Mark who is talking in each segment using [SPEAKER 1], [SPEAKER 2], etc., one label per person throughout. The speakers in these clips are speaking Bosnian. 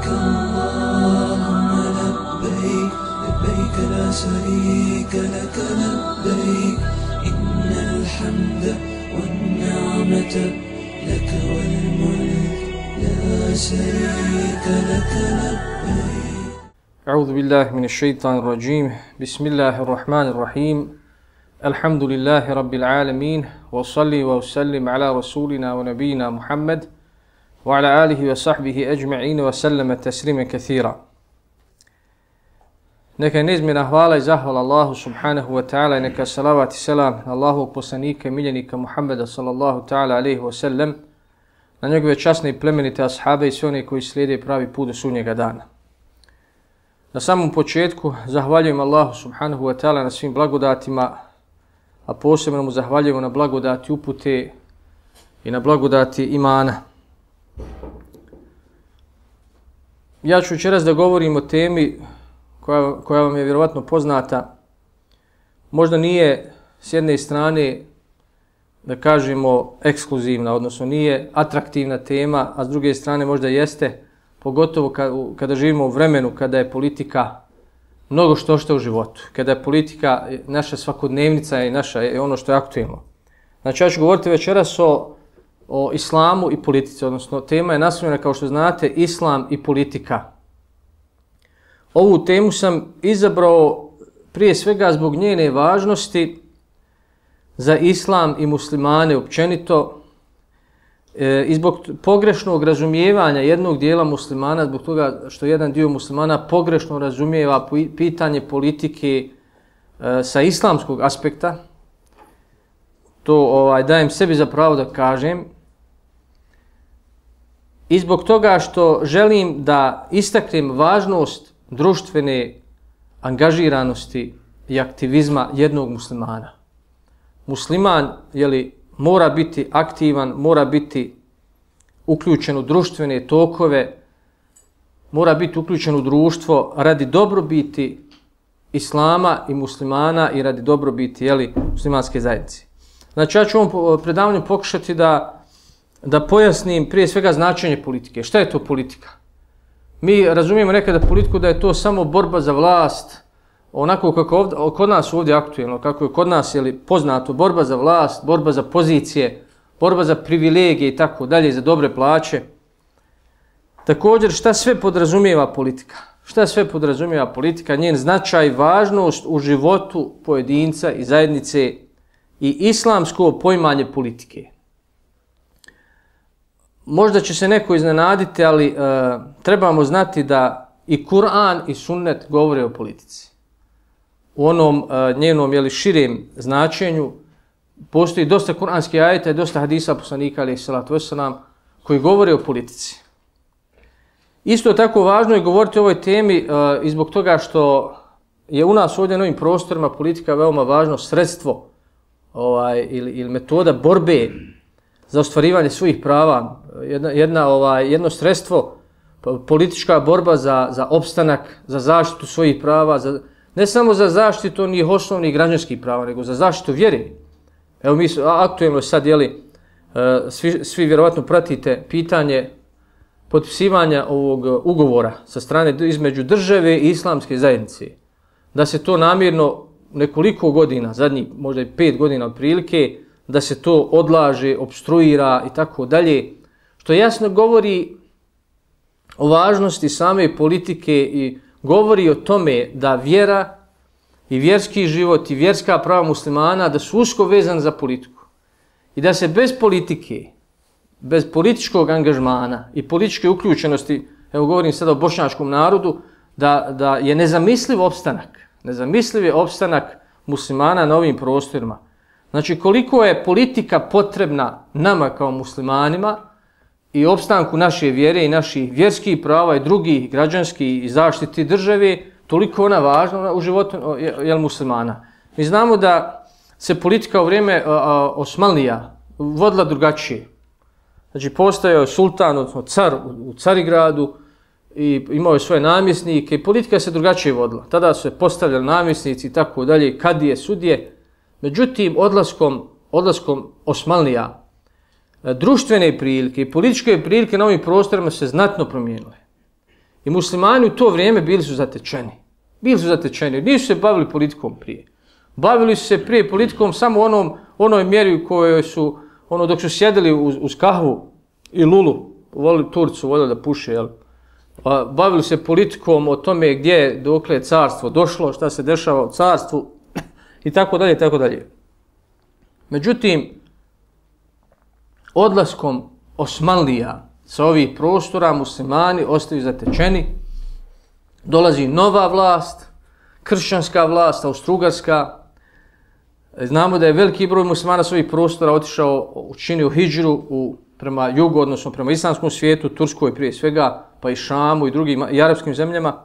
[SPEAKER 1] لبيك اللهم لبيك لبيك لا شريك لك لبيك إن الحمد والنعمة لك والملك لا شريك لك لبيك.
[SPEAKER 2] أعوذ بالله من الشيطان الرجيم. بسم الله الرحمن الرحيم. الحمد لله رب العالمين وصلي وسلم على رسولنا ونبينا محمد وعلى آله وصحبه أجمعين وسلم تسليما كثيرا. Neka neizmjerna hvala i zahvala Allahu subhanahu wa ta'ala i neka salavat i selam Allahovog poslanika i miljenika Muhammeda sallallahu ta'ala alaihi wa sallam, na njegove časne i plemenite ashabe i sve one koji slijede pravi put do sudnjega dana. Na samom početku zahvaljujem Allahu subhanahu wa ta'ala na svim blagodatima, a posebno mu zahvaljujemo na blagodati upute i na blagodati imana. Ja ću večeras da govorim o temi koja vam je vjerovatno poznata. Možda nije s jedne strane, da kažemo, ekskluzivna, odnosno nije atraktivna tema, a s druge strane možda jeste, pogotovo kada živimo u vremenu kada je politika mnogo što u životu, kada je politika naša svakodnevnica i naša je ono što je aktuelno. Znači ja ću govoriti večeras o islamu i politici, odnosno tema je naslovljena, kao što znate, islam i politika. Ovu temu sam izabrao prije svega zbog njene važnosti za islam i muslimane općenito i zbog pogrešnog razumijevanja jednog dijela muslimana, zbog toga što jedan dio muslimana pogrešno razumijeva pitanje politike sa islamskog aspekta. To dajem sebi za pravo da kažem. I zbog toga što želim da istaknem važnost društvene angažiranosti i aktivizma jednog muslimana. Musliman mora biti aktivan, mora biti uključen u društvene tokove, mora biti uključen u društvo radi dobrobiti islama i muslimana i radi dobrobiti muslimanske zajednice. Znači ja ću ovom predavanju pokušati da pojasnim prije svega značenje politike. Šta je to politika? Mi razumijemo nekada politiku da je to samo borba za vlast, onako kako kod nas ovdje aktuelno, kako je kod nas poznato, borba za vlast, borba za pozicije, borba za privilegije i tako dalje, za dobre plaće. Također, šta sve podrazumijeva politika? Šta sve podrazumijeva politika, njen značaj, važnost u životu pojedinca i zajednice i islamsko poimanje politike. Možda će se neko iznenaditi, ali trebamo znati da i Kur'an i sunnet govore o politici. U onom njenom širem značenju postoji dosta kuranskih ajeta i dosta hadisa poslanika alejhi salatu vesselam koji govore o politici. Isto tako važno je govoriti o ovoj temi i zbog toga što je u nas ovdje na ovim prostorima politika veoma važno sredstvo ili metoda borbe za ostvarivanje svojih prava, jedno sredstvo, politička borba za opstanak, za zaštitu svojih prava, ne samo za zaštitu onih osnovnih građanskih prava, nego za zaštitu vjere. Evo mi aktuelno sad, svi vjerovatno pratite pitanje potpisivanja ovog ugovora sa strane između države i islamske zajednice. Da se to namjerno nekoliko godina, zadnjih možda i 5 godina otprilike, da se to odlaže, opstruira i tako dalje, što jasno govori o važnosti same politike i govori o tome da vjera i vjerski život i vjerska prava muslimana da su usko vezani za politiku. I da se bez politike, bez političkog angažmana i političke uključenosti, evo govorim sada o bošnjačkom narodu, da je nezamisliv opstanak muslimana na ovim prostorima. Znači koliko je politika potrebna nama kao muslimanima i opstanku naše vjere i naših vjerskih prava i drugih građanskih i zaštiti države, toliko ona važna u životu muslimana. Mi znamo da se politika u vrijeme Osmanlija vodila drugačije. Znači postojao je sultan, odnosno car u Carigradu i imao je svoje namjesnike i politika se drugačije vodila. Tada su se postavljali namjesnici i tako dalje, kadije, sudije. Međutim, odlaskom Osmanlija, društvene prilike i političke prilike na ovim prostorima se znatno promijenile. I muslimani u to vrijeme bili su zatečeni. Bili su zatečeni, nisu se bavili politikom prije. Bavili su se prije politikom samo onoj mjeri u kojoj su, dok su sjedili uz kahvu i lulu, Turci voljeli da puše, jel? Bavili se politikom o tome dokle je carstvo došlo, šta se dešava u carstvu i tako dalje, tako dalje. Međutim, odlaskom Osmanlija sa ovih prostora muslimani ostaju zatečeni, dolazi nova vlast, kršćanska vlast, austrougarska. Znamo da je veliki broj muslimana sa ovih prostora otišao, učinio hidžru prema jugu, odnosno prema islamskom svijetu, Turskoj prije svega, pa i Šamu i drugim i arapskim zemljama.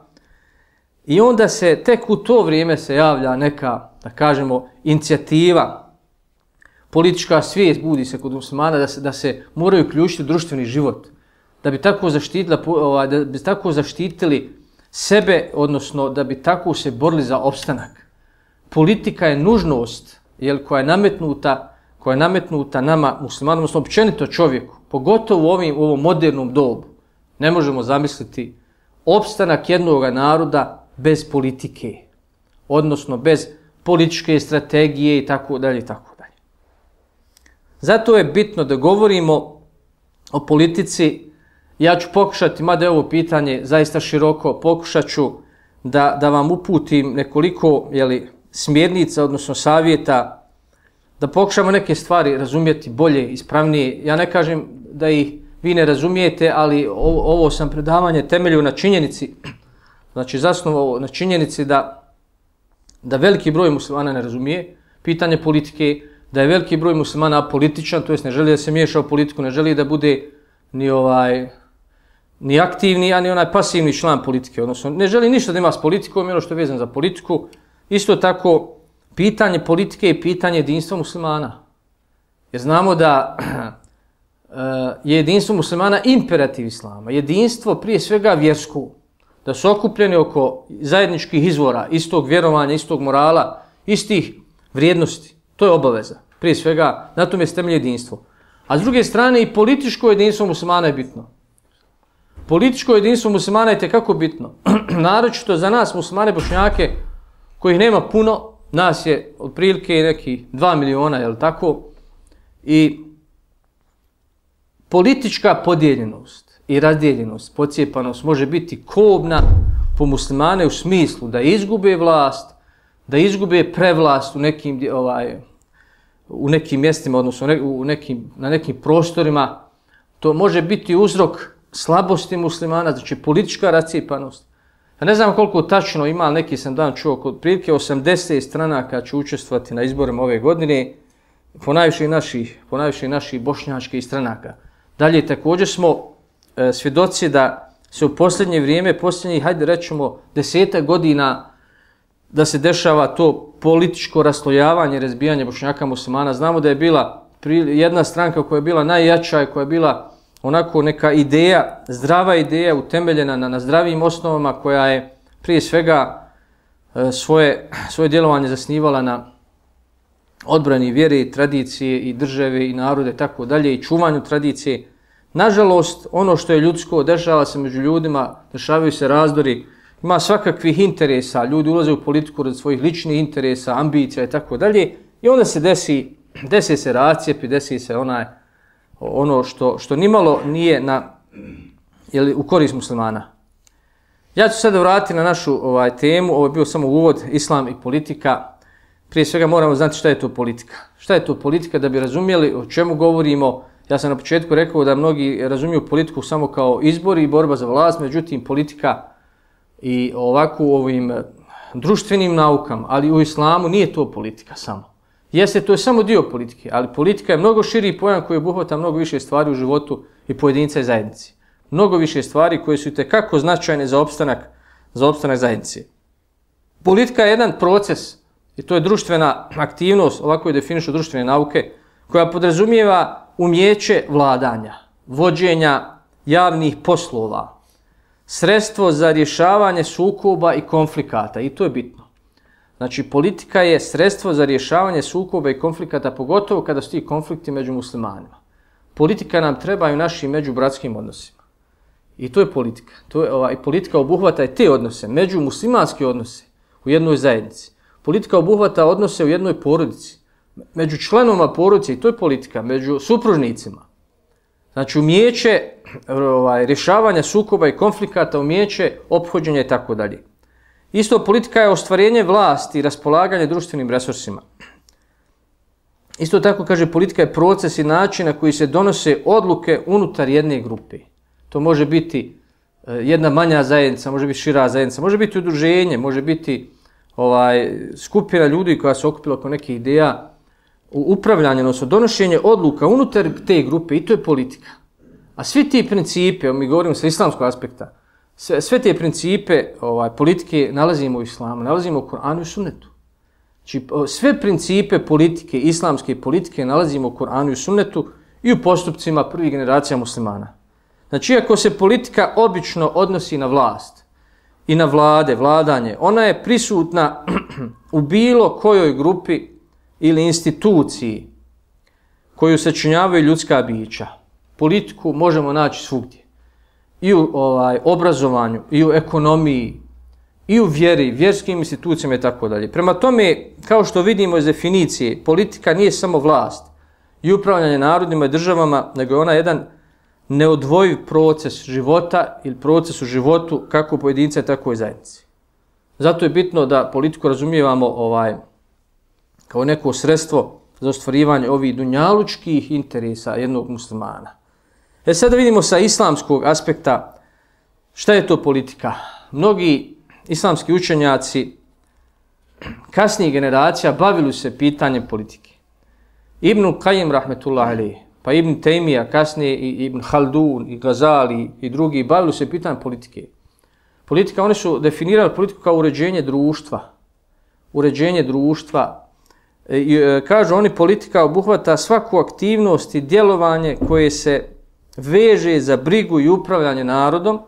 [SPEAKER 2] I onda se tek u to vrijeme se javlja neka, da kažemo, inicijativa, politička svijest budi se kod muslimana da se moraju uključiti u društveni život, da bi tako zaštitili sebe, odnosno da bi tako se borili za opstanak. Politika je nužnost, koja je nametnuta nama muslimanima, odnosno općenito čovjeku, pogotovo u ovom modernom dobu. Ne možemo zamisliti opstanak jednog naroda bez politike, odnosno bez političke strategije i tako dalje i tako dalje. Zato je bitno da govorimo o politici. Ja ću pokušati, mada je ovo pitanje zaista široko, pokušat ću da vam uputim nekoliko smjernica, odnosno savjeta, da pokušamo neke stvari razumjeti bolje, ispravnije. Ja ne kažem da ih vi ne razumijete, ali ovo sam predavanje temeljio na činjenici, znači zasnovao na činjenici da veliki broj muslimana ne razumije pitanje politike, da je veliki broj muslimana apolitičan, to jest ne želi da se miješa u politiku, ne želi da bude ni aktivni, a ni onaj pasivni član politike, odnosno ne želi ništa da ima s politikom, ono što je vezano za politiku. Isto tako, pitanje politike je pitanje jedinstva muslimana. Jer znamo da je jedinstvo muslimana imperativ islama, jedinstvo prije svega vjersko, da su okupljeni oko zajedničkih izvora, istog vjerovanja, istog morala, istih vrijednosti. To je obaveza. Prije svega, na tom je temelj jedinstvo. A s druge strane, i političko jedinstvo muslimana je bitno. Političko jedinstvo muslimana je tekako bitno. Naročito za nas muslimane Bošnjake, kojih nema puno, nas je otprilike neki 2 miliona, je li tako? I politička podijeljenost i razdijeljenost, pocijepanost može biti kobna po muslimane u smislu da izgube vlast, da izgube prevlast u nekim mjestima, odnosno na nekim prostorima. To može biti uzrok slabosti muslimana, znači politička rascijepanost. Ja ne znam koliko tačno ima, ali neki sam dan čuo, kod prilike 80 stranaka će učestvovati na izborima ove godine, ponajviše naših bošnjačkih stranaka. Dalje, također smo svjedoci da se u posljednje vrijeme, hajde rećemo 10 godina, da se dešava to političko raslojavanje, razbijanje Bošnjaka muslimana. Znamo da je bila jedna stranka koja je bila najjača i koja je bila onako neka ideja, zdrava ideja, utemeljena na zdravim osnovama, koja je prije svega svoje djelovanje zasnivala na odbrani vjere, tradicije i države i narode, tako dalje, i čuvanju tradicije. Nažalost, ono što je ljudsko, dešava se među ljudima, dešavaju se razdori, ima svakakvih interesa, ljudi ulaze u politiku radi svojih ličnih interesa, ambicija i tako dalje, i onda se desi se rascijepi, desi se ono što nimalo nije u korist muslimana. Ja ću sada vratiti na našu temu, ovo je bio samo uvod, islam i politika. Prije svega moramo znati šta je to politika. Šta je to politika, da bi razumjeli o čemu govorimo. Ja sam na početku rekao da mnogi razumiju politiku samo kao izbor i borba za vlast, međutim politika i ovako u ovim društvenim naukama, ali u islamu nije to politika samo. Jeste, to je samo dio politike, ali politika je mnogo širi pojam koji obuhvata mnogo više stvari u životu i pojedinca i zajednici. Mnogo više stvari koje su itekako značajne za opstanak zajednice. Politika je jedan proces, i to je društvena aktivnost, ovako je definišu društvene nauke, koja podrazumijeva umijeće vladanja, vođenja javnih poslova, sredstvo za rješavanje sukoba i konflikata, i to je bitno. Znači, politika je sredstvo za rješavanje sukoba i konflikata, pogotovo kada su ti konflikti među muslimanima. Politika nam treba i u našim međubratskim odnosima. I to je politika. Politika obuhvata i te odnose, međumuslimanske odnose u jednoj zajednici. Politika obuhvata odnose u jednoj porodici, među članovima porodice, i to je politika, među supružnicima. Znači umijeće rješavanja sukoba i konflikata, umijeće ophođenja i tako dalje. Isto politika je ostvarenje vlasti i raspolaganje društvenim resursima. Isto tako kaže politika je proces i način na koji se donose odluke unutar jedne grupe. To može biti jedna manja zajednica, može biti šira zajednica, može biti udruženje, može biti skupina ljudi koja se okupila oko nekih ideja, upravljanje, odnosno donošenje odluka unutar te grupe, i to je politika. A svi ti principe, mi govorimo sa islamskog aspekta, sve te principe politike nalazimo u islamu, nalazimo u Kur'anu i sunnetu. Znači, sve principe politike, islamske politike nalazimo u Kur'anu i sunnetu i u postupcima prvih generacija muslimana. Znači, iako se politika obično odnosi na vlast i na vladanje, ona je prisutna u bilo kojoj grupi ili instituciji koju sačinjavaju ljudska bića. Politiku možemo naći svugdje. I u obrazovanju, i u ekonomiji, i u vjeri, vjerskim institucijama i tako dalje. Prema tome, kao što vidimo iz definicije, politika nije samo vlast i upravljanje narodima i državama, nego je ona jedan neodvojiv proces života ili proces u životu kako pojedinca, tako i zajednici. Zato je bitno da politiku razumijevamo kao neko sredstvo za ostvarivanje ovih dunjalučkih interesa jednog muslimana. Sada vidimo sa islamskog aspekta šta je to politika. Mnogi islamski učenjaci kasnijih generacija bavili se pitanjem politike. Ibn Qayyim rahmetullahi alejhi, pa Ibn Taymija, kasnije i Ibn Haldun, i Gazali i drugi bavili se pitanjem politike. Politika, oni su definirali politiku kao uređenje društva. Uređenje društva. Kažu oni, politika obuhvata svaku aktivnost i djelovanje koje se veže za brigu i upravljanje narodom,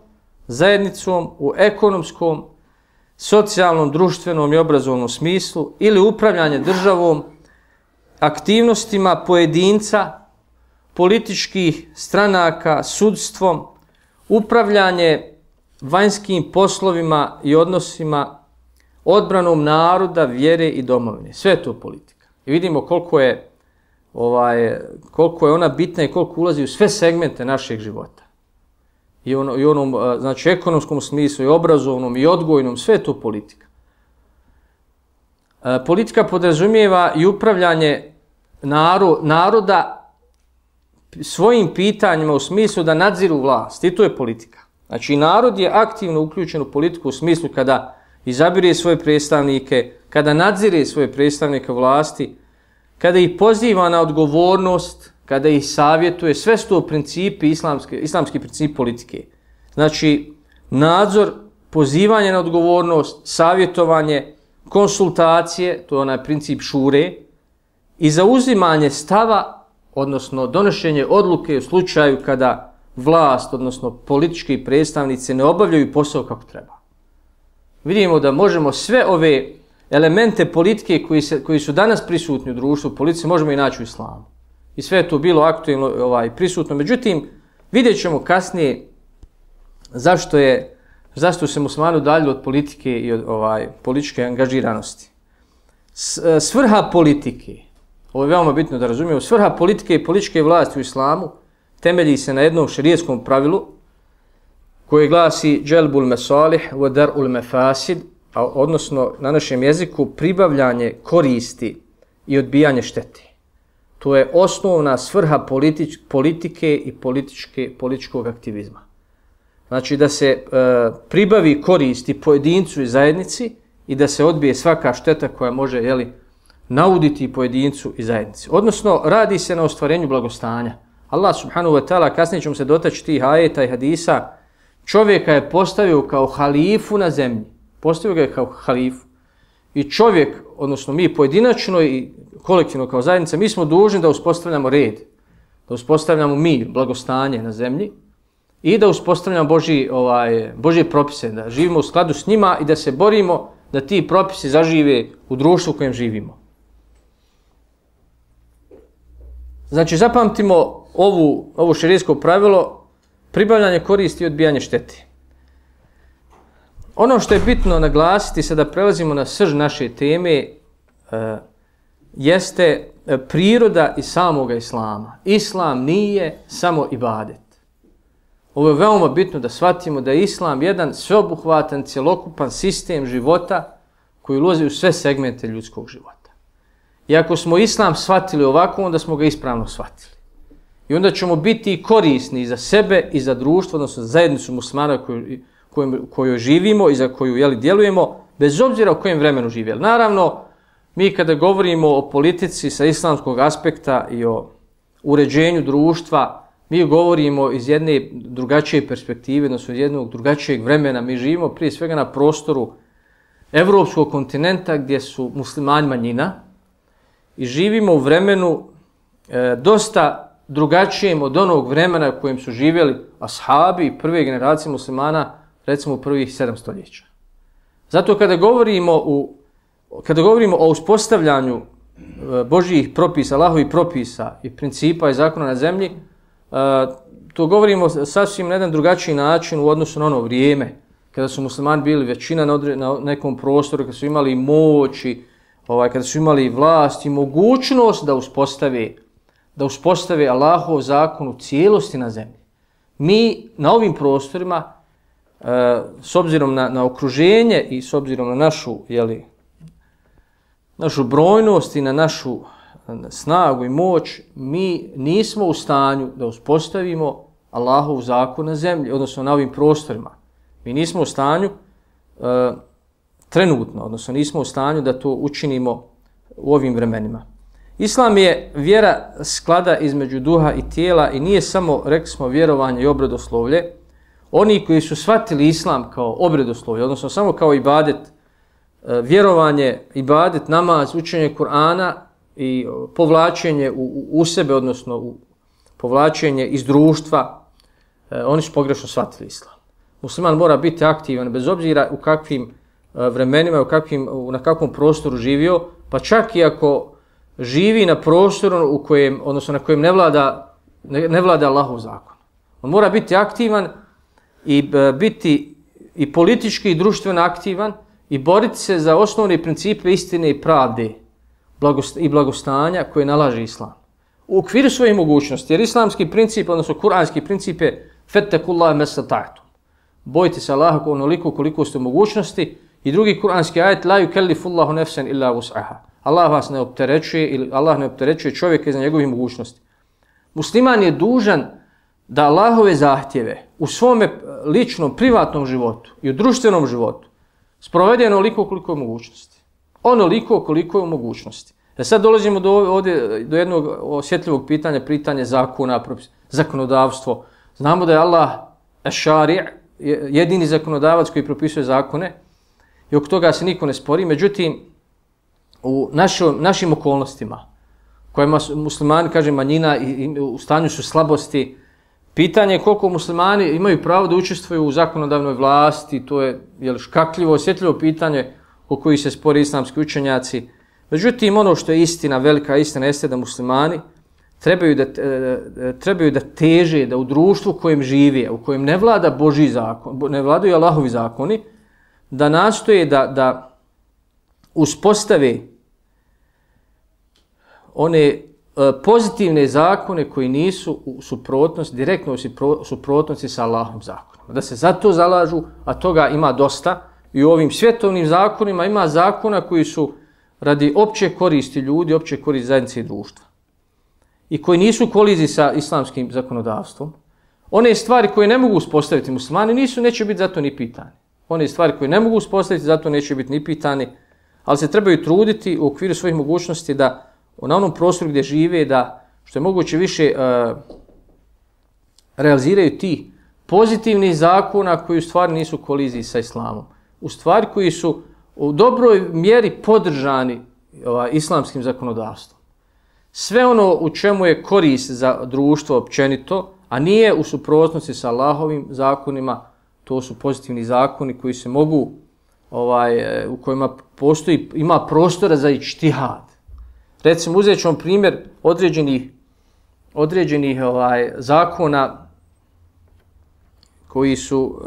[SPEAKER 2] zajednicom u ekonomskom, socijalnom, društvenom i obrazovnom smislu ili upravljanje državom, aktivnostima pojedinca, političkih stranaka, sudstvom, upravljanje vanjskim poslovima i odnosima, odbranom naroda, vjere i domovine. Sve je to politika. I vidimo koliko je ona bitna i koliko ulazi u sve segmente našeg života. I onom, znači, ekonomskom smislu, i obrazovnom, i odgojnom, sve je to politika. Politika podrazumijeva i upravljanje naroda svojim pitanjima u smislu da nadziru vlast. I to je politika. Znači, narod je aktivno uključen u politiku u smislu kada izabire svoje predstavnike, kada nadzire svoje predstavnike vlasti, kada ih poziva na odgovornost, kada ih savjetuje, sve su to principi, islamski princip politike. Znači, nadzor, pozivanje na odgovornost, savjetovanje, konsultacije, to je onaj princip šure, i zauzimanje stava, odnosno donošenje odluke u slučaju kada vlast, odnosno politički predstavnici ne obavljaju posao kako treba. Vidimo da možemo sve ove elemente politike koji su danas prisutni u društvu, u politici, možemo i naći u islamu. I sve je to bilo aktualno prisutno. Međutim, vidjet ćemo kasnije zašto se muslimani udaljili od politike i od političke angažiranosti. Svrha politike, ovo je veoma bitno da razumijemo, svrha politike i političke vlasti u islamu temelji se na jednom šerijetskom pravilu koje glasi dželbul mesalih wa dar'ul mefasid, odnosno na našem jeziku pribavljanje koristi i odbijanje štete. To je osnovna svrha politike i političkog aktivizma. Znači da se pribavi koristi pojedincu i zajednici i da se odbije svaka šteta koja može nauditi pojedincu i zajednici. Odnosno radi se na ostvarenju blagostanja. Allah subhanahu wa ta'ala, kasnije ćemo se dotaći tih ajeta i hadisa, čovjeka je postavio kao halifu na zemlji. Postavio ga je kao halifu. I čovjek, odnosno mi pojedinačno i kolektivno kao zajednica, mi smo dužni da uspostavljamo red, da uspostavljamo mir, blagostanje na zemlji i da uspostavljamo Božje propise, da živimo u skladu s njima i da se borimo da ti propisi zažive u društvu u kojem živimo. Znači, zapamtimo ovo šerijsko pravilo pribavljanje koristi i odbijanje štete. Ono što je bitno naglasiti, sada prelazimo na srž naše teme, jeste priroda i samoga islama. Islam nije samo ibadet. Ovo je veoma bitno da shvatimo da je islam jedan sveobuhvatan, cjelokupan sistem života koji ulazi u sve segmente ljudskog života. I ako smo islam shvatili ovako, onda smo ga ispravno shvatili. I onda ćemo biti korisni za sebe i za društvo, odnosno za zajednicu muslimana koju živimo i za koju djelujemo, bez obzira u kojem vremenu živjeli. Naravno, mi kada govorimo o politici sa islamskog aspekta i o uređenju društva, mi govorimo iz jedne drugačije perspektive, odnosno iz jednog drugačijeg vremena. Mi živimo prije svega na prostoru evropskog kontinenta gdje su muslimani manjina i živimo u vremenu dosta drugačijem od onog vremena u kojem su živjeli ashabi i prve generacije muslimana, recimo u prvih 7 stoljeća. Zato kada govorimo o uspostavljanju Božjih propisa, Allahovih propisa i principa i zakona na zemlji, to govorimo sasvim na jedan drugačiji način u odnosu na ono vrijeme kada su muslimani bili većina na nekom prostoru, kada su imali moć, kada su imali vlast i mogućnost da uspostave Allahov zakon u cijelosti na zemlji. Mi na ovim prostorima, s obzirom na okruženje i s obzirom na našu brojnost i na našu snagu i moć, mi nismo u stanju da uspostavimo Allahov zakon na zemlji, odnosno na ovim prostorima. Mi nismo u stanju trenutno, odnosno nismo u stanju da to učinimo u ovim vremenima. Islam je vjera sklada između duha i tijela i nije samo, rekli smo, vjerovanje i obredoslovlje. Oni koji su shvatili islam kao obredoslovlje, odnosno samo kao ibadet, vjerovanje, ibadet, namaz, učenje Kur'ana i povlačenje u sebe, odnosno povlačenje iz društva, oni su pogrešno shvatili islam. Musliman mora biti aktivan bez obzira u kakvim vremenima, na kakvom prostoru živio, pa čak i ako živi na prostoru na kojem ne vlada Allahov zakon. On mora biti aktivan i biti i politički i društveno aktivan i boriti se za osnovne principe istine i pravde i blagostanja koje nalaže islam. U okviru svojih mogućnosti, jer islamski princip, odnosno kuranski princip je fettekullaha mastata'tum. Bojite se Allaha onoliko koliko ste u mogućnosti. I drugi kuranski ajet, la yukellifullahu nafsan illa wus'aha. Allah vas ne opterećuje ili Allah ne opterećuje čovjeka iza njegovih mogućnosti. Musliman je dužan da Allahove zahtjeve u svome ličnom, privatnom životu i u društvenom životu sprovede onoliko koliko je mogućnosti. Onoliko koliko je u mogućnosti. Sad dolazimo do jednog osjetljivog pitanja zakona, zakonodavstvo. Znamo da je Allah eš-šari' jedini zakonodavac koji propisuje zakone i oko toga se niko ne spori. Međutim, u našim okolnostima, kojima muslimani, kažem, manjina i u stanju su slabosti, pitanje je koliko muslimani imaju pravo da učestvuju u zakonodavnoj vlasti, to je škakljivo, osjetljivo pitanje o koji se spori islamski učenjaci. Međutim, ono što je istina, velika istina, jeste da muslimani trebaju da teže, da u društvu u kojem žive, u kojem ne vlada Božji zakon, ne vladaju Allahovi zakoni, da nastoje da uspostave one pozitivne zakone koji nisu u suprotnosti, direktno u suprotnosti sa Allahovim zakonima. Da se za to zalažu, a toga ima dosta. I u ovim svjetovnim zakonima ima zakona koji su radi opće koristi ljudi, opće koristi zajednice i društva. I koji nisu u koliziji sa islamskim zakonodavstvom. One stvari koje ne mogu uspostaviti muslimani neće biti zato ni pitani. One stvari koje ne mogu uspostaviti zato neće biti ni pitani, ali se trebaju truditi u okviru svojih mogućnosti da na onom prostoru gdje žive, da što je moguće više realiziraju ti pozitivni zakona koji u stvari nisu u koliziji sa islamom. U stvari koji su u dobroj mjeri podržani islamskim zakonodavstvom. Sve ono u čemu je korist za društvo općenito, a nije u suprotnosti sa Allahovim zakonima, to su pozitivni zakoni koji se mogu, u kojima ima prostora za ičtihad. Recimo, uzet ćemo primjer određenih zakona koji su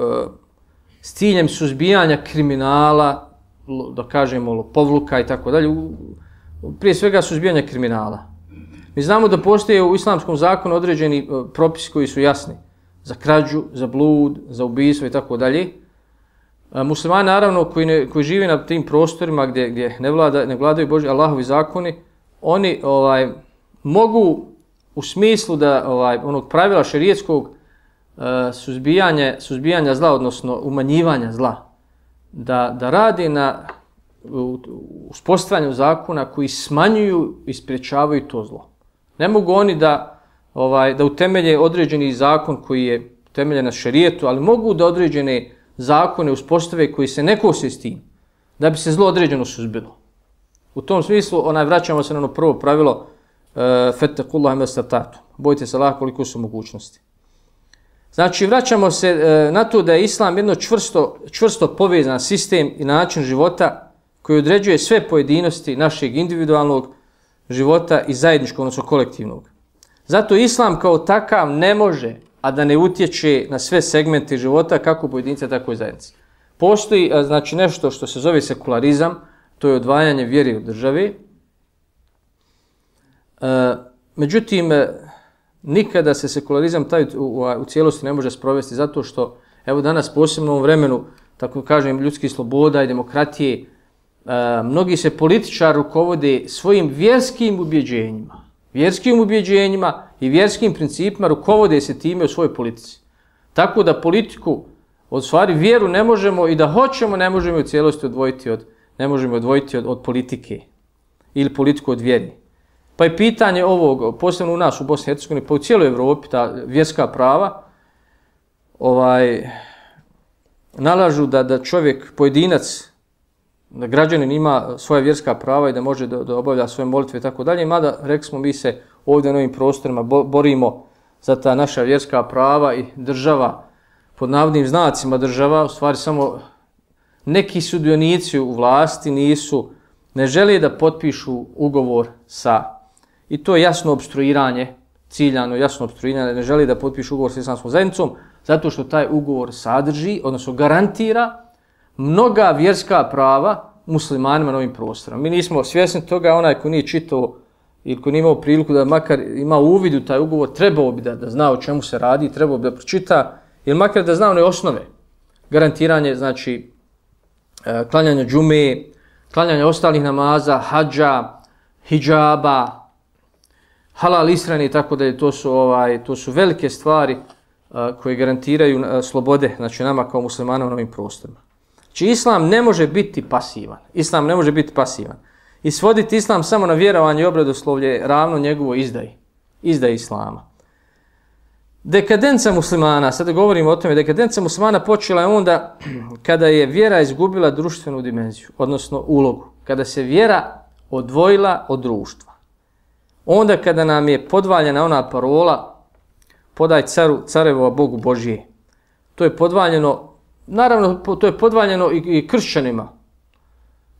[SPEAKER 2] s ciljem suzbijanja kriminala, da kažemo lopovluka i tako dalje, prije svega suzbijanja kriminala. Mi znamo da postoje u islamskom zakonu određeni propisi koji su jasni za krađu, za blud, za ubistvo i tako dalje. Muslimani naravno koji žive na tim prostorima gdje ne vladaju Božji Allahovi zakoni, oni mogu u smislu da onog pravila šerijetskog suzbijanja zla, odnosno umanjivanja zla, da radi na uspostavljanju zakona koji smanjuju i sprječavaju to zlo. Ne mogu oni da utemelje određeni zakon koji je utemeljen na šerijetu, ali mogu da određene zakone uspostave koji se ne kose s tim, da bi se zlo određeno suzbilo. U tom smislu vraćamo se na ono prvo pravilo fettakullaha mastata'tum. Bojte se Allaha koliko su mogućnosti. Znači, vraćamo se na to da je Islam jedno čvrsto povezan sistem i način života koji određuje sve pojedinosti našeg individualnog života i zajedničkog, odnosno kolektivnog. Zato Islam kao takav ne može, a da ne utječe na sve segmente života, kako pojedinca, tako i zajednice. Postoji znači nešto što se zove sekularizam, to je odvajanje vjere od države. Međutim, nikada se sekularizam taj u cijelosti ne može sprovesti, zato što, evo danas posebno u ovom vremenu, tako kažem, ljudskih sloboda i demokratije, mnogi se političari rukovode svojim vjerskim ubjeđenjima i vjerskim principima, rukovode se time u svojoj politici. Tako da politiku, od stvari vjeru ne možemo i da hoćemo, ne možemo u cijelosti odvojiti od politike ili politiku od vjeri. Pa je pitanje ovog, posebno u nas u Bosni i Hercegovini, pa u cijeloj Evropi, ta vjerska prava, nalažu da čovjek, pojedinac, da građanin ima svoja vjerska prava i da može da obavlja svoje molitve i tako dalje. Mada, rekli smo, mi se ovdje na ovim prostorima borimo za ta naša vjerska prava i država, pod navodnim znacima država, u stvari samo neki sudionici u vlasti ne žele da potpišu ugovor i to je jasno opstruiranje, ciljano jasno opstruiranje, ne žele da potpišu ugovor sa islamskom zajednicom, zato što taj ugovor sadrži, odnosno garantira mnoga vjerska prava muslimanima na ovim prostorima. Mi nismo svjesni toga, onaj ko nije čitao ili ko nije imao priliku da makar ima uvid u taj ugovor, trebao bi da zna o čemu se radi, trebao bi da pročita, ili makar da zna one osnove. Garantiranje, znači, klanjanja džume, klanjanja ostalih namaza, hadža, hidžaba, halal ishrane i tako dalje. To su velike stvari koje garantiraju slobode, znači nama kao muslimanima na ovim prostorima. Znači, Islam ne može biti pasivan. I svoditi Islam samo na vjerovanje i obredoslovlje je ravno njegovo izdaji Islama. Dekadenca muslimana, sada govorimo o tome, dekadenca muslimana počela je onda kada je vjera izgubila društvenu dimenziju, odnosno ulogu. Kada se vjera odvojila od društva. Onda kada nam je podvaljena ona parola podaj carevo, a Bogu Božije. To je podvaljeno, naravno to je podvaljeno i kršćanima,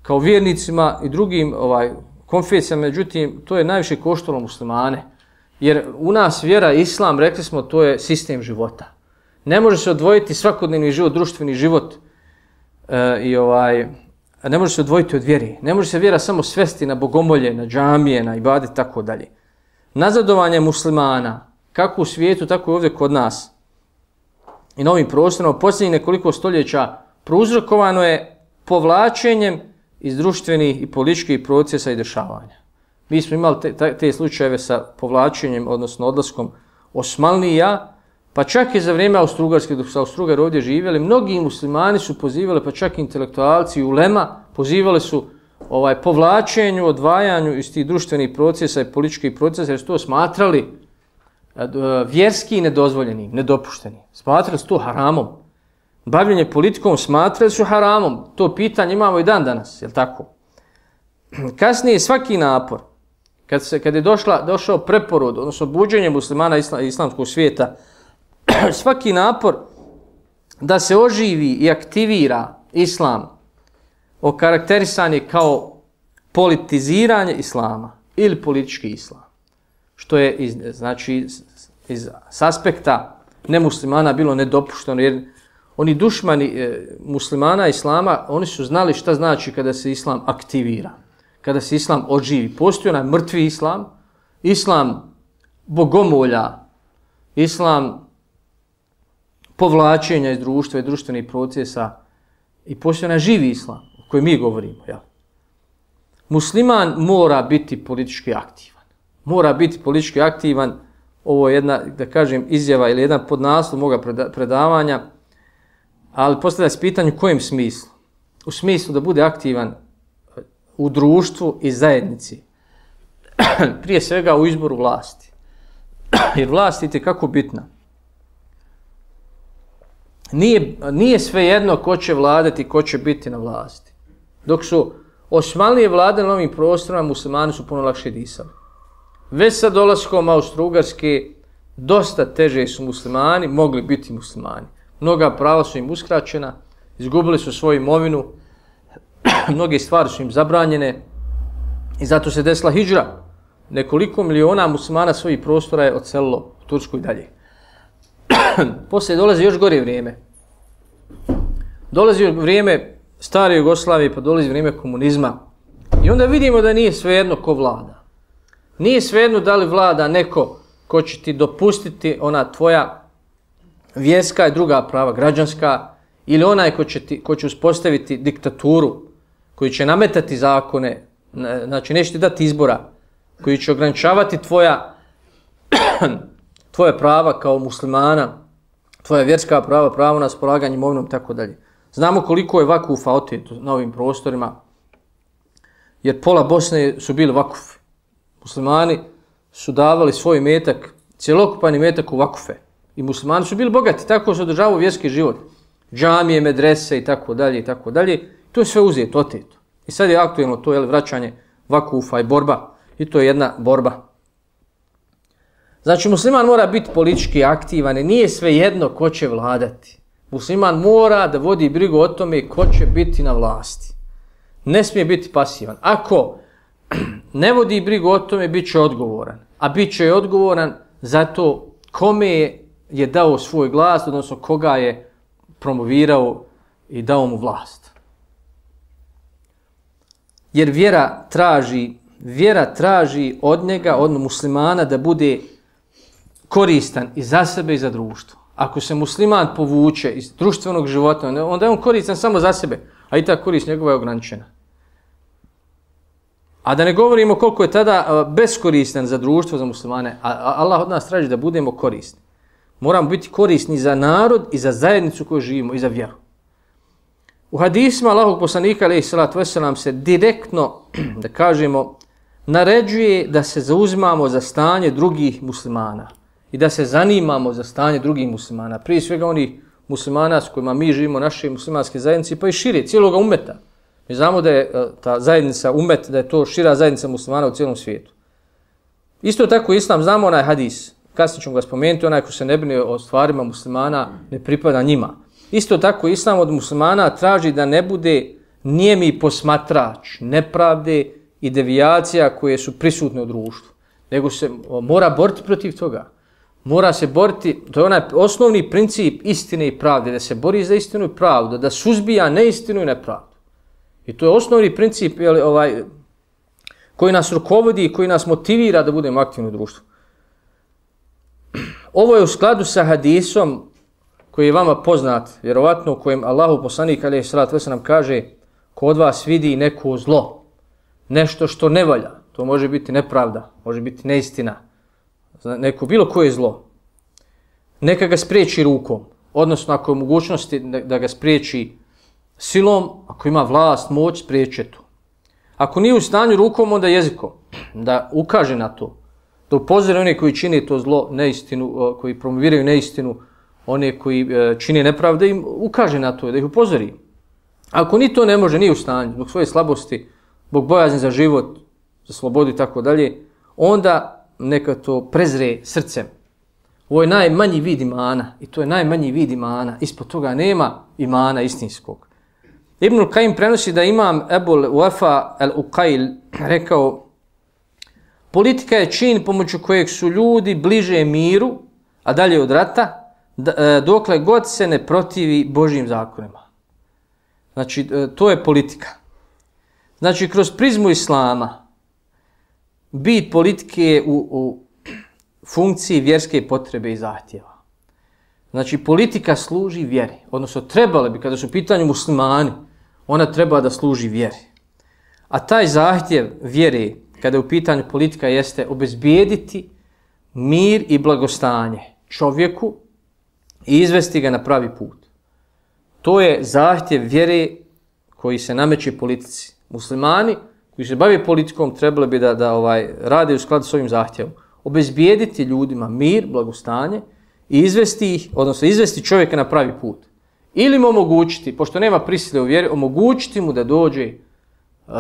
[SPEAKER 2] kao vjernicima i drugim konfesijama, međutim to je najviše koštalo muslimane. Jer u nas vjera, islam, rekli smo, to je sistem života. Ne može se odvojiti svakodnevni život, društveni život ne može se odvojiti od vjere. Ne može se vjera samo svesti na bogomolje, na džamije, na ibadet, tako dalje. Nazadovanje muslimana, kako u svijetu, tako i ovdje kod nas i na ovim prostorima, u posljednjih nekoliko stoljeća prouzrokovano je povlačenjem iz društvenih i političkih procesa i dešavanja. Mi smo imali te slučajeve sa povlačenjem, odnosno odlaskom Osmanlija, pa čak i za vrijeme Austrougarske, dok su Austrougari ovdje živjeli, mnogi muslimani su pozivali, pa čak i intelektualci i ulema, pozivali su povlačenju, odvajanju iz tih društvenih procesa i političkih procesa, jer su to smatrali vjerski nedozvoljenim, nedopuštenim. Smatrali su to haramom. Bavljenje politikom smatrali su haramom. To pitanje imamo i dan danas, je li tako? Kasnije svaki napor, kad je došao preporod, odnosno buđenje muslimana islamskog svijeta, svaki napor da se oživi i aktivira islam, okarakterisan je kao politiziranje islama ili politički islam. Što je iz aspekta nemuslimana bilo nedopušteno, jer oni dušmani muslimana, islama, oni su znali šta znači kada se islam aktivira, kada se islam oživi. Postoji onaj mrtvi islam, islam bogomolja, islam povlačenja iz društva i društvenih procesa i postoji onaj živi islam o kojem mi govorimo. Ja. Musliman mora biti politički aktivan. Mora biti politički aktivan. Ovo je jedna, da kažem, izjava ili jedan podnaslov moga predavanja, ali postavlja se pitanje u kojem smislu? U smislu da bude aktivan u društvu i zajednici. Prije svega u izboru vlasti. Jer vlast je itekako bitna. Nije svejedno ko će vladati, ko će biti na vlasti. Dok su Osmanlije vladali na ovim prostorima, muslimani su puno lakše disali. Već sa dolaskom Austro-Ugarske dosta teže su muslimani mogli biti muslimani. Mnoga prava su im uskraćena, izgubili su svoju imovinu, mnoge stvari su im zabranjene i zato se desila hidžra. Nekoliko miliona muslimana svojih prostora je odselilo u Tursku i dalje. Poslije dolazi još gore vrijeme. Dolazi vrijeme stare Jugoslavije, pa dolazi vrijeme komunizma. I onda vidimo da nije svejedno ko vlada. Nije svejedno da li vlada neko ko će ti dopustiti ona tvoja vjerska i druga prava, građanska, ili onaj ko će uspostaviti diktaturu, koji će nametati zakone, znači neće ti dati izbora, koji će ograničavati tvoje prava kao muslimana, tvoja vjerska prava, pravo na raspolaganje imovinom, tako dalje. Znamo koliko je vakufa oteto na ovim prostorima, jer pola Bosne su bili vakufi. Muslimani su davali svoj metak, cjelokupan metak u vakufe. I muslimani su bili bogati, tako se održavao vjerski život. Džamije, medrese i tako dalje i tako dalje. To je sve uzeto, oteto. I sad je aktuelno to, vraćanje vakufa i borba. I to je jedna borba. Znači, musliman mora biti politički aktivan i nije svejedno ko će vladati. Musliman mora da vodi brigu o tome ko će biti na vlasti. Ne smije biti pasivan. Ako ne vodi brigu o tome, bit će odgovoran. A bit će odgovoran zato kome je dao svoj glas, odnosno koga je promovirao i dao mu vlast. Jer vjera traži od njega, od muslimana, da bude koristan i za sebe i za društvo. Ako se musliman povuče iz društvenog života, onda je on koristan samo za sebe, a i ta korist njegova je ograničena. A da ne govorimo koliko je tada beskoristan za društvo, za muslimane, a Allah od nas traži da budemo korisni. Moramo biti korisni za narod i za zajednicu koju živimo i za vjeru. U hadisima Allahovog poslanika alejhi salatu vesselam se direktno, da kažemo, naređuje da se zauzimamo za stanje drugih muslimana i da se zanimamo za stanje drugih muslimana. Prije svega onih muslimana s kojima mi živimo, naše muslimanske zajednice, pa i šire, cijeloga umeta. Mi znamo da je ta zajednica umet, da je to šira zajednica muslimana u cijelom svijetu. Isto tako islam, znamo onaj hadis, kasnije ćemo ga spomenuti, onaj ko se ne brine o stvarima muslimana, ne pripada njima. Isto tako islam od muslimana traži da ne bude nijemi posmatrač nepravde i devijacija koje su prisutne u društvu, nego se mora boriti protiv toga. Mora se boriti, to je onaj osnovni princip istine i pravde, da se bori za istinu i pravdu, da suzbija neistinu i nepravdu. I to je osnovni princip koji nas rukovodi i koji nas motivira da budemo aktivni u društvu. Ovo je u skladu sa hadisom koji je vama poznat, vjerovatno u kojem Allahu poslanik alejhi salatu vesselam kaže: ko od vas vidi neko zlo, nešto što ne valja, to može biti nepravda, može biti neistina, neko bilo koje zlo, neka ga spriječi rukom, odnosno ako je mogućnosti da ga spriječi silom, ako ima vlast, moć, spriječi to. Ako nije u stanju rukom, onda jezikom, da ukaže na to, da upozori one koji čine to zlo, neistinu, koji promoviraju neistinu, one koji čine nepravde, im ukaže na to, da ih upozori. Ako ni to ne može, nije u stanju, zbog svoje slabosti, zbog bojazni za život, za slobodu i tako dalje, onda neka to prezre srcem. Ovo je najmanji vid imana i to je najmanji vid imana. Ispod toga nema imana istinskog. Ibnul Kajim prenosi da imam Ebul Wafa al-Uqail rekao: politika je čin pomoću kojeg su ljudi bliže miru, a dalje od rata, dokle god se ne protivi Božjim zakonima. Znači, to je politika. Znači, kroz prizmu islama, bit politike je u funkciji vjerske potrebe i zahtjeva. Znači, politika služi vjeri. Odnosno, trebale bi, kada su u pitanju muslimani, ona treba da služi vjeri. A taj zahtjev vjere, kada je u pitanju politika, jeste obezbijediti mir i blagostanje čovjeku i izvesti ga na pravi put. To je zahtjev vjere koji se nameće politici. Muslimani koji se bave politikom trebali bi da rade u skladu s ovim zahtjevom. Obezbijediti ljudima mir, blagostanje i izvesti ih, odnosno izvesti čovjeka na pravi put. Ili mu omogućiti, pošto nema prisile u vjeri, omogućiti mu da dođe,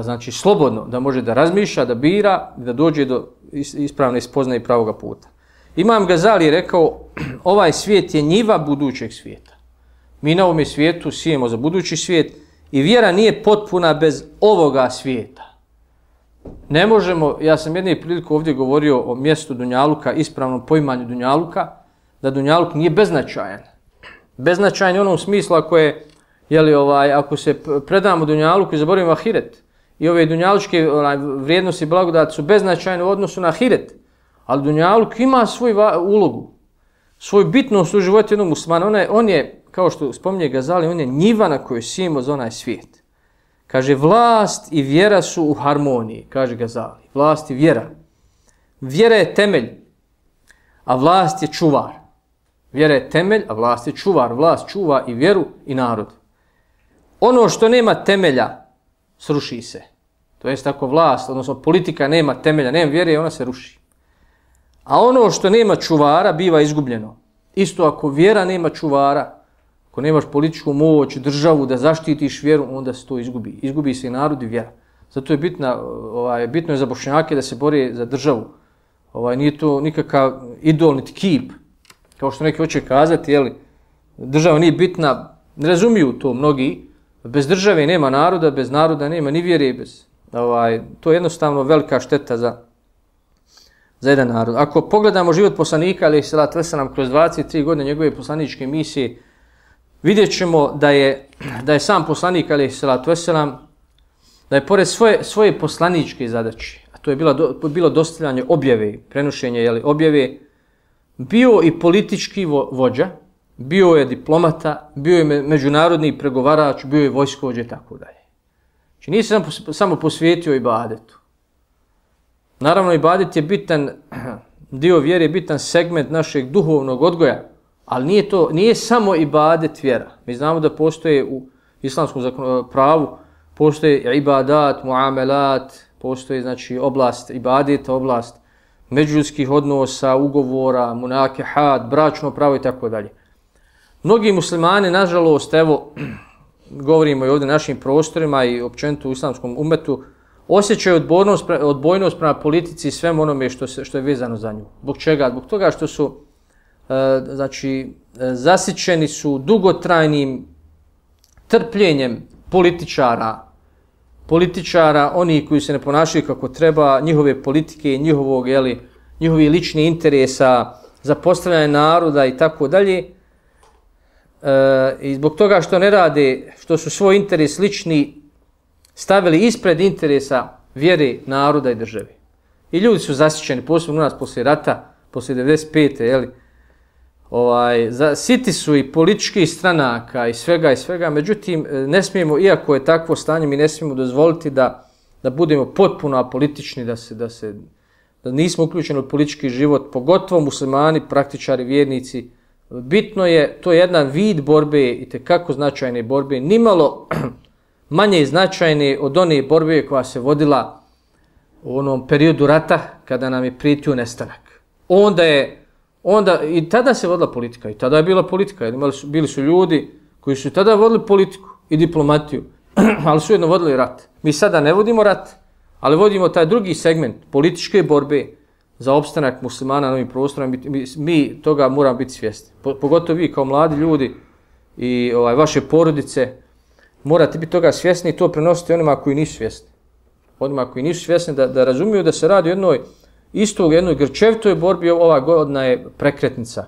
[SPEAKER 2] znači slobodno, da može da razmišlja, da bira, da dođe do ispravne spoznaje i pravoga puta. Imam Gazali je rekao, ovaj svijet je njiva budućeg svijeta. Mi na ovome svijetu sijemo za budući svijet i vjera nije potpuna bez ovoga svijeta. Ne možemo, ja sam jedne priliku ovdje govorio o mjestu Dunjaluka, ispravnom poimanju Dunjaluka, da Dunjaluk nije beznačajan. Beznačajan je u onom smislu ako se predamo Dunjaluku i zaboravimo ahiret. I ove dunjalučke vrijednosti i blagodati su beznačajne u odnosu na ahiret. Ali Dunjaluk ima svoju ulogu, svoju bitnost u životu jednog muslimana. On je, kao što spominje Gazali, on je njiva na kojoj sijemo za onaj svijet. Kaže, vlast i vjera su u harmoniji, kaže Gazali. Vlast i vjera. Vjera je temelj, a vlast je čuvar. Vjera je temelj, a vlast je čuvar. Vlast čuva i vjeru i narod. Ono što nema temelja, sruši se. To jest ako vlast, odnosno politika nema temelja, nema vjere, ona se ruši. A ono što nema čuvara, biva izgubljeno. Isto ako vjera nema čuvara, ako nemaš političku moć, državu da zaštitiš vjeru, onda se to izgubi. Izgubi se i narod i vjera. Zato je bitno je za Bošnjake da se bore za državu. Nije to nikakav idol, niti kip. Kao što neki hoće kazati, država nije bitna, ne razumiju to mnogi. Bez države nema naroda, bez naroda nema ni vjere. To je jednostavno velika šteta za jedan narod. Ako pogledamo život poslanika, alejhi selatu vesselam, kroz 23 godine njegove poslaničke misije, vidjet ćemo da je sam poslanik, alejhi selatu vesselam, da je pored svoje poslaničke zadaće, a to je bilo dostavljanje objave, prenošenje znači bio i politički vođa, bio je diplomata, bio je međunarodni pregovarač, bio je vojskovođa i tako dalje. Znači nije se samo posvetio ibadetu. Naravno, ibadet je bitan, dio vjere je bitan segment našeg duhovnog odgoja, ali nije samo ibadet vjera. Mi znamo da postoje u islamskom pravu, postoje ibadat, muamelat, postoje znači oblast ibadeta, oblast međuljudskih odnosa, ugovora, munakehat, bračno pravo i tako dalje. Mnogi muslimani, nažalost, govorimo i ovdje našim prostorima i općenito u islamskom umetu, osjećaju odbojnost prema politici i svemu onome što je vezano za nju. Zbog čega? Zbog toga što su zasićeni su dugotrajnim trpljenjem političara, oni koji se ne ponašaju kako treba, njihove politike, njihovi lični interesa za postavljanje naroda i tako dalje. I zbog toga što ne rade, što su svoj interes lični stavili ispred interesa vjere, naroda i države. I ljudi su zasićeni, posebno u nas poslije rata, poslije 95. Siti su i političkih stranaka i svega, međutim, ne smijemo, iako je takvo stanje, mi ne smijemo dozvoliti da budemo potpuno apolitični, da nismo uključeni u politički život, pogotovo muslimani, praktičari, vjernici. Bitno je, to je jedan vid borbe, i tekako značajne borbe, nimalo manje značajne od one borbe koja se vodila u onom periodu rata kada nam je prijetio nestanak. I tada se vodila politika, i tada je bila politika. Bili su ljudi koji su tada vodili politiku i diplomatiju, ali su jedno vodili rat. Mi sada ne vodimo rat, ali vodimo taj drugi segment političke borbe za opstanak muslimana na ovim prostorima. Mi toga moramo biti svjesni. Pogotovo vi kao mladi ljudi i vaše porodice morate biti toga svjesni i to prenositi onima koji nisu svjesni. Onima koji nisu svjesni da razumiju da se radi o jednoj grčevitoj borbi. Ova godina je prekretnica.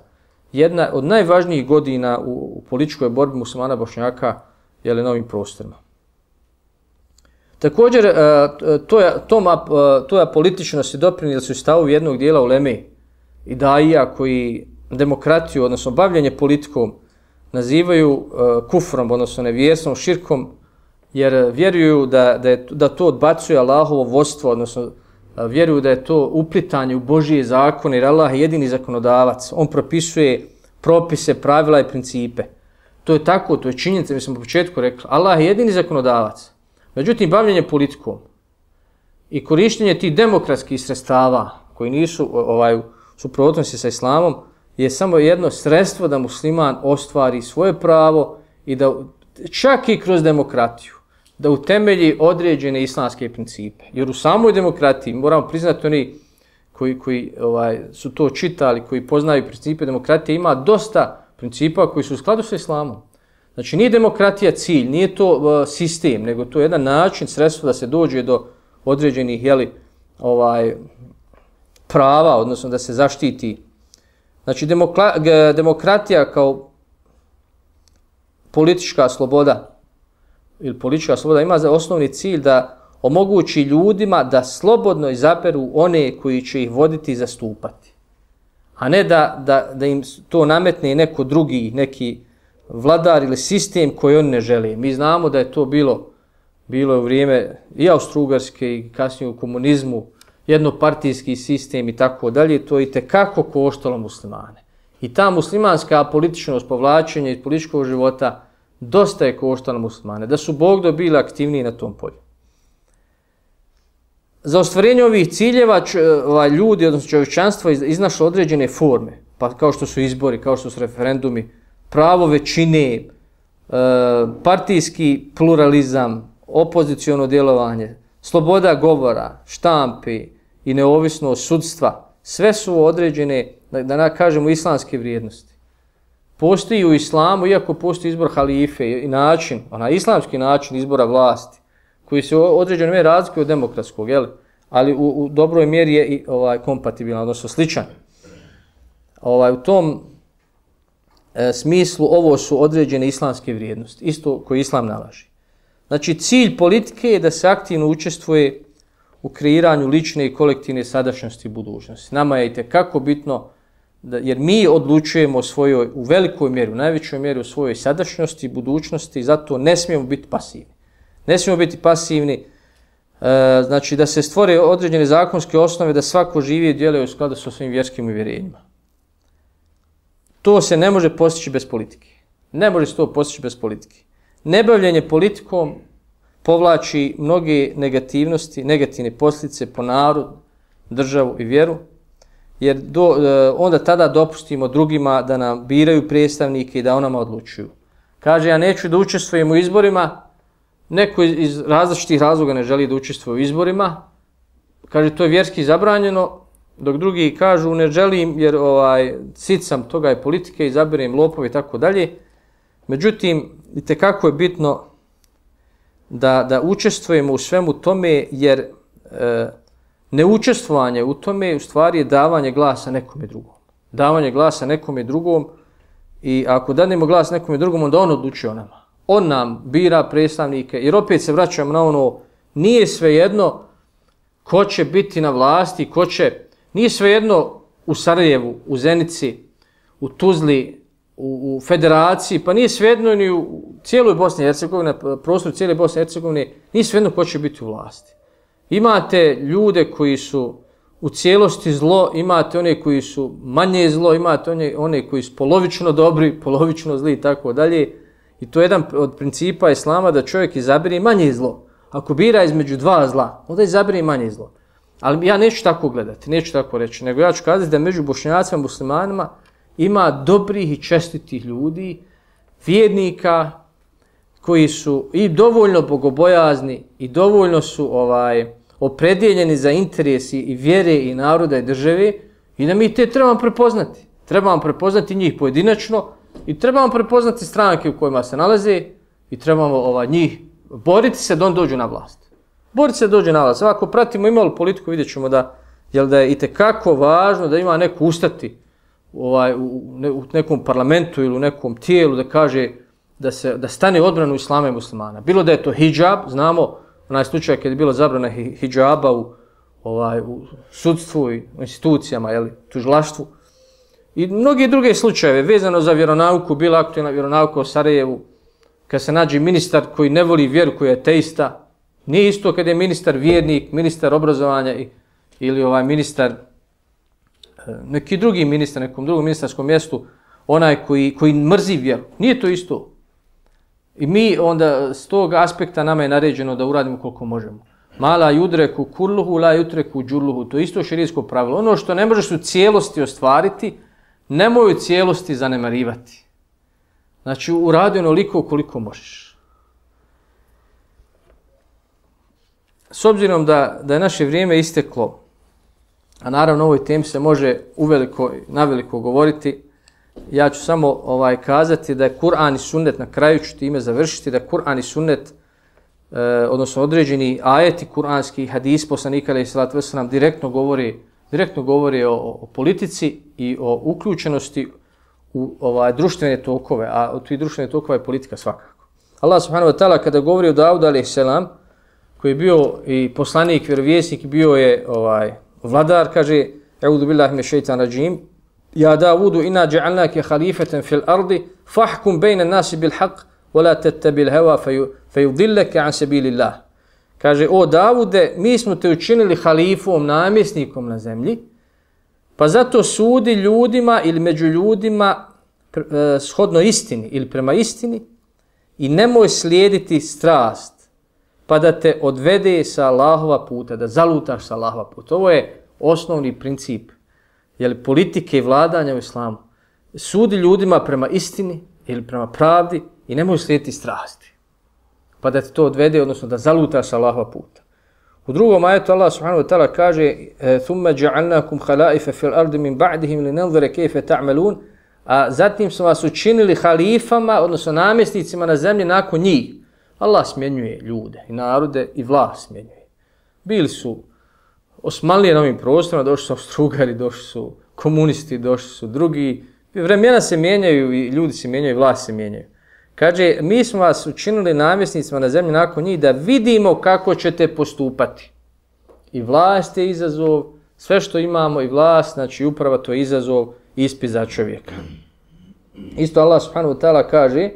[SPEAKER 2] jedna od najvažnijih godina u političkoj borbi muslimana Bošnjaka na ovim prostorima. Također, to je političnost i doprinijeli su stavovi jednog dijela uleme i daija koji demokratiju, odnosno bavljenje politikom, nazivaju kufrom, odnosno nevjerstvom, širkom, jer vjeruju da to odbacuje Allahovo vodstvo, odnosno vjeruju da je to uplitanje u Božije zakone, jer Allah je jedini zakonodavac. On propisuje propise, pravila i principe. To je tako, to je činjenica, mi smo u početku rekli. Allah je jedini zakonodavac. Međutim, bavljenje politikom i korištenje tih demokratskih sredstava koji nisu suprotnosti sa islamom je samo jedno sredstvo da musliman ostvari svoje pravo i da čak i kroz demokratiju da utemelji određene islamske principe. Jer u samoj demokratiji, moramo priznati oni koji su to čitali, koji poznaju principe demokratije, ima dosta principa koji su u skladu sa islamom. Znači, nije demokratija cilj, nije to sistem, nego to je jedan način, sredstvo da se dođe do određenih prava, odnosno da se zaštiti. Znači, demokratija kao politička sloboda ima za osnovni cilj da omogući ljudima da slobodno izaberu one koji će ih voditi i zastupati. A ne da im to nametne neko drugi, neki vladar ili sistem koji oni ne žele. Mi znamo da je to bilo u vrijeme i Austro-Ugarske i kasnije u komunizmu, jednopartijski sistem i tako dalje, to je itekako koštalo muslimane. I ta muslimanska političnost, povlačenje iz političkog života dosta je koštalo muslimane, da su Bog bili aktivniji na tom polju. Za ostvarenje ovih ciljeva ljudi, odnosno čovječanstvo, iznašlo određene forme, pa kao što su izbori, kao što su referendumi, pravo većine, partijski pluralizam, opoziciono djelovanje, sloboda govora, štampe i neovisnost sudstva, sve su određene, da kažemo, islamske vrijednosti. Postoji u islamu, iako postoji izbor halife i način, islamski način izbora vlasti, koji se u određenoj mjeri razlikuje od demokratskog, ali u dobroj mjeri je i kompatibilan, odnosno sličan. U tom smislu ovo su određene islamske vrijednosti, isto koje islam nalaže. Znači, cilj politike je da se aktivno učestvuje u kreiranju lične i kolektivne sadašnjosti i budućnosti. Nama je itekako bitno, jer mi odlučujemo u velikoj mjeri, u najvećoj mjeri o svojoj sadašnjosti i budućnosti i zato ne smijemo biti pasivni. Ne smijemo biti pasivni, znači da se stvore određene zakonske osnove da svako živi i djeluje u skladu sa svojim vjerskim uvjerenjima. To se ne može postići bez politike. Ne može se to postići bez politike. Nebavljenje politikom povlači mnoge negativne posljedice po narod, državu i vjeru, jer onda tada dopustimo drugima da nam biraju predstavnike i da o nama odlučuju. Kaže, ja neću da učestvujem u izborima, neko iz različitih razloga ne želi da učestvuje u izborima, kaže, to je vjerski zabranjeno, dok drugi kažu, ne želim jer sit sam toga je politike, izaberem lopove i tako dalje. Međutim, itekako je bitno da učestvujemo u svemu tome, jer neučestvovanje u tome u stvari je davanje glasa nekome drugom. Davanje glasa nekome drugom i ako dadnemo glas nekome drugom, onda on odlučuje o nama. On nam bira predstavnike, jer opet se vraćamo na ono, nije svejedno ko će biti na vlasti, nije svejedno u Sarajevu, u Zenici, u Tuzli, u Federaciji, pa nije svejedno ni u cijeloj Bosni i Hercegovini, na prostoru cijele Bosne i Hercegovine, nije svejedno ko će biti u vlasti. Imate ljude koji su u cijelosti zlo, imate one koji su manje zlo, imate one koji su polovično dobri, polovično zli i tako dalje. I to je jedan od principa islama da čovjek izabere manje zlo. Ako bira između dva zla, onda izabere manje zlo. Ali ja neću tako gledati, neću tako reći, nego ja ću kazati da među Bošnjacima i muslimanima ima dobrih i čestitih ljudi, vjernika koji su i dovoljno bogobojazni i dovoljno su opredjeljeni za interesi i vjere i naroda i države i da mi te trebamo prepoznati. Trebamo prepoznati njih pojedinačno i trebamo prepoznati stranke u kojima se nalaze i trebamo njih boriti se da on dođu na vlast. Boriti se da dođe na vlast. Ako pratimo imalo politiku, vidjet ćemo da je itekako važno da ima neko ustati u nekom parlamentu ili u nekom tijelu da kaže da stane odbranu islama i muslimana. Bilo da je to hidžab, znamo onaj slučaj kad je bilo zabrana hidžaba u sudstvu i u institucijama, tužilaštvu. I mnogi druge slučajeve vezano za vjeronauku, bila aktualna vjeronauka u Sarajevu, kad se nađe ministar koji ne voli vjeru, koji je ateista, nije isto kad je ministar vjernik, ministar obrazovanja ili ministar, neki drugi ministar, nekom drugom ministarskom mjestu, onaj koji mrzi vjeru. Nije to isto. I mi onda s tog aspekta nama je naređeno da uradimo koliko možemo. Mala yudreku kulluhu la yutreku džulluhu. To je isto šerijsko pravilo. Ono što ne možeš u cijelosti ostvariti, nemoj u cijelosti zanemarivati. Znači, uradi onoliko koliko možeš. S obzirom da je naše vrijeme isteklo, a naravno o ovoj temi se može naveliko govoriti, ja ću samo kazati da je Kur'an i sunnet, na kraju ću time završiti, da Kur'an i sunnet, odnosno određeni ajeti kur'anski, hadis poslanika alejhi selatu vesselam direktno govori o politici i o uključenosti u društvene tokove, a od tih društvenih tokova je politika svakako. Allah subhanahu wa ta'ala kada govori o Daudu alejhi selam, koji je bio i poslanik, vjerovjesnik, bio je vladar, kaže A'udhu billahi minash shaitanir rajim, Ja Davudu inna ja'alnaka khalifatan fil ardi fahkum bayna an-nasi bil haqq wa la tattabi'il hawa fayudillaka an sabilillah. Kaže, o Davude, mi smo te učinili halifom, namjesnikom na zemlji, pa zato sudi ljudima ili među ljudima shodno istini ili prema istini i nemoj slijediti strast, pa da te odvede sa Allahova puta, da zalutaš sa Allahova puta. Ovo je osnovni princip politike i vladanja u islamu. Sudi ljudima prema istini ili prema pravdi i nemoj slijediti strasti, pa da te to odvede, odnosno da zalutaš sa Allahova puta. U drugom ajetu Allah subhanahu wa ta'ala kaže ثُمَّ جَعَلْنَاكُمْ خَلَائِفَ فِي الْأَرْضِ مِنْ بَعْدِهِمْ لِنَنْظُرَ كَيْفَ تَعْمَلُونَ. A zatim smo vas učinili halifama, odnosno namjesnicima na zemlji nakon njih. Allah smjenjuje ljude i narode i vlast smjenjuje. Bili su Osmanlije na ovim prostorima, došli su Austro-Ugari, došli su komunisti, došli su drugi. Vremena se mijenjaju i ljudi se mijenjaju i vlast se mijenjaju. Kaže, mi smo vas učinili namjesnicima na zemlji nakon njih da vidimo kako ćete postupati. I vlast je izazov, sve što imamo i vlast, znači uprava, to je izazov, ispit za čovjeka. Isto Allah subhanahu wa ta'ala kaže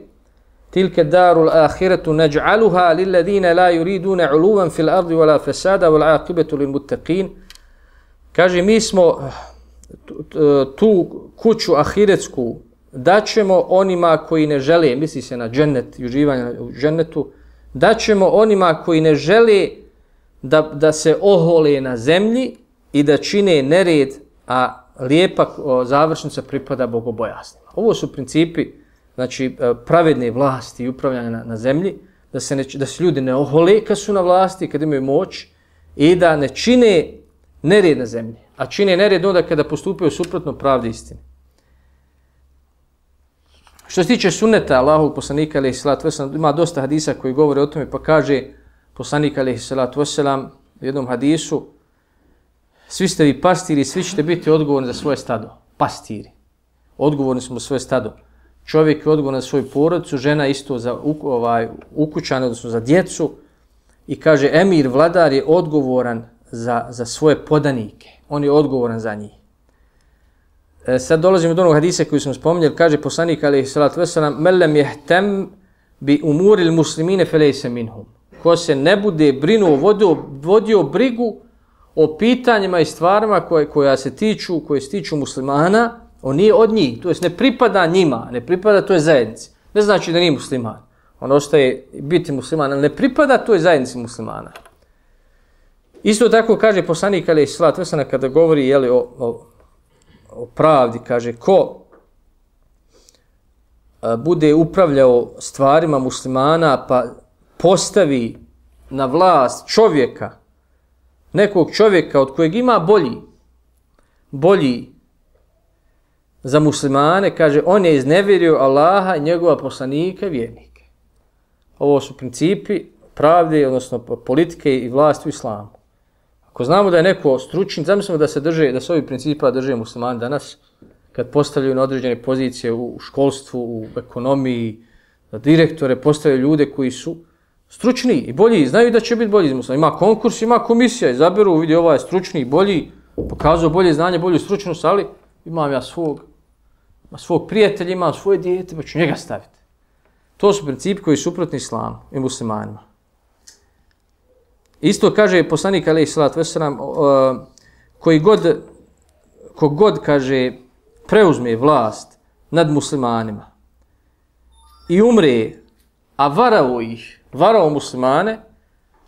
[SPEAKER 2] tilke darul ahiretu naj'aluha lilladine la yuridune uluvan fil ardi wala fasada wal aqibetu lil muttaqin. Kaže, mi smo tu kuću ahiretsku daćemo onima koji ne žele, misli se na džennet i uživanje u džennetu, daćemo onima koji ne žele da se ohole na zemlji i da čine nered, a lijepa završnica pripada bogobojasnima. Ovo su principi, znači, pravedne vlasti i upravljanja na zemlji, da se ljudi ne ohole kad su na vlasti, kad imaju moć, i da ne čine nered na zemlji. A čine nered onda kada postupaju suprotno pravdi istini. Što se tiče sunneta Allahovog poslanika alejhi selatu vesselam, ima dosta hadisa koji govore o tome, pa kaže poslanik alejhi selatu vesselam u jednom hadisu: svi ste vi pastiri, svi ćete biti odgovorni za svoje stado. Pastiri. Odgovorni smo za svoje stado. Čovjek je odgovoran za svoju porodicu, žena isto za ukućane, odnosno za djecu. I kaže, emir, vladar je odgovoran za svoje podanike. On je odgovoran za njih. Sad dolazimo do onog hadisa koji smo spominjali, kaže poslanik alejhi selatu vesselam: "Men lem yahtam bi umuril muslimine felejsa minhum." Ko se ne bude vodio brigu o pitanjima i stvarima koje se tiču muslimana, on nije od njih, to jest ne pripada njima, ne pripada toj zajednici. Ne znači da nije musliman. On ostaje biti musliman, ali ne pripada toj zajednici muslimana. Isto tako kaže poslanik alejhi selatu vesselam kada govori o pravdi, kaže, ko bude upravljao stvarima muslimana pa postavi na vlast čovjeka, nekog čovjeka od kojeg ima bolji za muslimane, kaže, on je iznevjerio Allaha i njegova poslanika i vjernike. Ovo su principi pravde, odnosno politike i vlasti u islamu. Ako znamo da je neko stručni, zamislimo da se ovi principa drže muslimani danas, kad postavljaju na određene pozicije u školstvu, u ekonomiji, direktore, postavljaju ljude koji su stručni i bolji, znaju da će biti bolji iz muslima. Ima konkurs, ima komisija, izaberu, vidi ovaj je stručni, bolji, pokazao bolje znanje, bolju stručnost, ali imam ja svog prijatelja, imam svoje dijete, pa ću njega staviti. To su principi koji su suprotni islamu i muslimanima. Isto kaže poslanik alejhi salatu vesselam, kogod kaže preuzme vlast nad muslimanima i umre, a varao muslimane,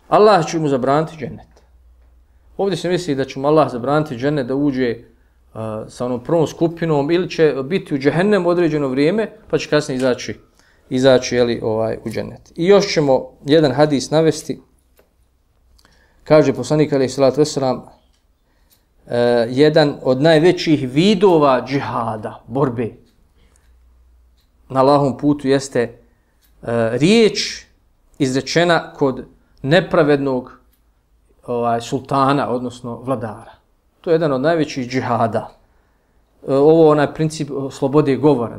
[SPEAKER 2] Allah će mu zabraniti džennet. Ovdje se misli da će mu Allah zabraniti džennet da uđe sa onom prvom skupinom ili će biti u džehennemu određeno vrijeme, pa će kasnije izaći u džennet. I još ćemo jedan hadis navesti. Kaže poslanik alejhi salatu vesselam, jedan od najvećih vidova džihada, borbe na Allahovom putu jeste riječ izrečena kod nepravednog sultana, odnosno vladara. To je jedan od najvećih džihada. Ovo onaj princip slobode govora,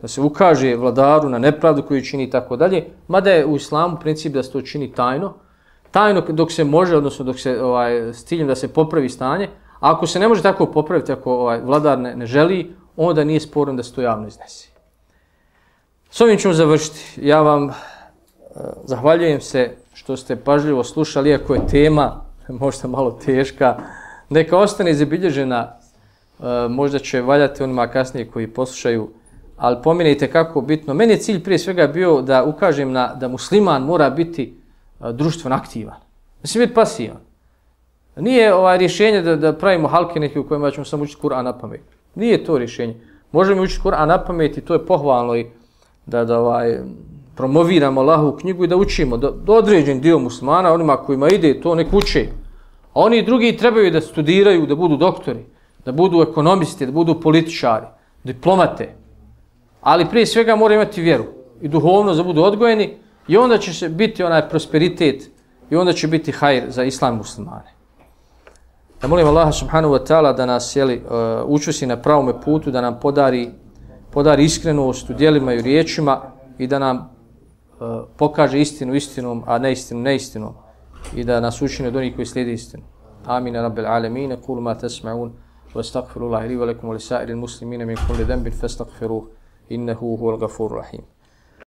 [SPEAKER 2] da se ukaže vladaru na nepravdu koju čini i tako dalje, mada je u islamu princip da se to čini tajno dok se može, odnosno dok se s ciljem da se popravi stanje. A ako se ne može tako popraviti, ako vladar ne želi, onda nije sporno da se to javno iznesi. S ovim ćemo završiti. Ja vam zahvaljujem se što ste pažljivo slušali, iako je tema možda malo teška. Neka ostane zabilježena, možda će valjati onima kasnije koji poslušaju, ali pomenite kako bitno. Meni je cilj prije svega bio da ukažem da musliman mora biti društveno aktivan. Da se biti pasivan. Nije rješenje da pravimo halke neke u kojima ćemo samo učiti Kur'an na pamet. Nije to rješenje. Možemo učiti Kur'an na pamet i to je pohvalno i da promoviramo Allahovu knjigu i da učimo. Da određen dio muslimana, onima kojima ide to nek uče. A oni drugi trebaju da studiraju, da budu doktori, da budu ekonomisti, da budu političari, diplomate. Ali prije svega moraju imati vjeru i duhovnost da budu odgojeni i onda će se biti onaj prosperitet i onda će biti hajr za islam i muslimane. Ja molim Allaha subhanahu wa ta'ala da nas učvrsti na pravome putu, da nam podari iskrenost u djelima i u riječima i da nam pokaže istinu istinom, a neistinu neistinom i da nas učini od onih koji slijede istinu. Amin rabbil alamin. Qulu ma tasma'un wa astaghfirullaha li wa lakum wa li sa'iril muslimina min kulli dhanbin fastaghfiruhu innahu huwal ghafurur rahim.